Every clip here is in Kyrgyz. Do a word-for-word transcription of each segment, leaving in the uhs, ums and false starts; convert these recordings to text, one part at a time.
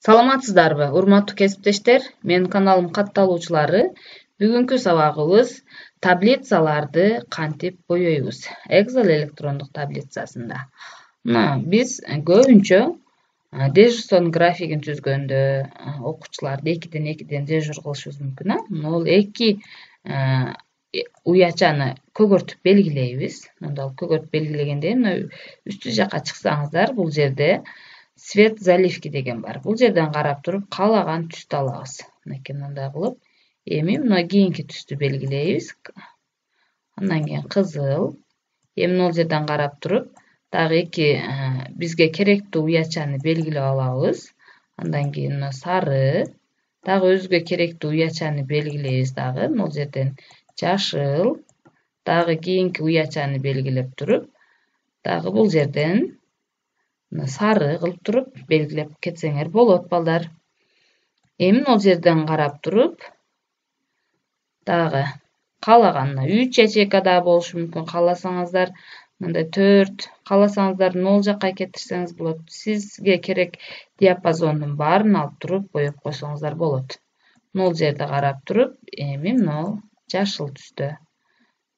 Саламатсыздарбы, урматтуу кесиптештер? Менин каналым катталуучулары. Бүгүнкү сабагыбыз таблицаларды кантип боёйбуз? Excel электрондук таблицасында. Мына биз көбүнчө дежурствонун графигин түзгөндө окуучуларды экиден экиден дежур кылышыбыз мүмкүн. Бул эки уячаны көгөртүп белгилейбиз. Мында көгөртүп белгилегенде мына үстү жака чыксаңыздар, бул жерде цвет заливки деген бар. Бул жерден карап туруп каалаган түстү алабыз. Мынакей мындай кылып, эми мына кийинки түстү белгилейбиз. Андан кийин кызыл. Эми могул жерден карап туруп, дагы эки бизге керектүү уячаны белгилеп алабыз. Андан кийин мына сары, дагы өзгө керектүү уячаны белгилейбиз дагы. Могул жерден жашыл, дагы кийинки уячаны белгилеп туруп, дагы бул жерден сары кылып туруп белгилеп кетсеңер болот, балдар. Эми могул жерден карап туруп, дагы каалаган үч ячейка да болушу мүмкүн, кааласаңыздар мындай төрт, кааласаңыздар нол жакка кетирсеңиз болот. Сизге керек диапазондун баарын алып туруп боеп койсоңуздар болот. Нол жерде карап туруп, эми мына жашыл түстө.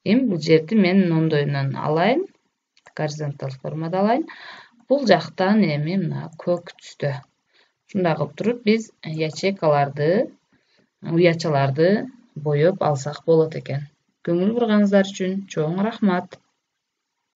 Эми бул жерди мен оңдойунан алайын, горизонталь формада алайын. Бул жактан эми мына көк түстө. Ушундай кылып туруп биз ячейкаларды, уячаларды боеп алсак болот экен. Көңүл бурганыңыздар үчүн чоң рахмат.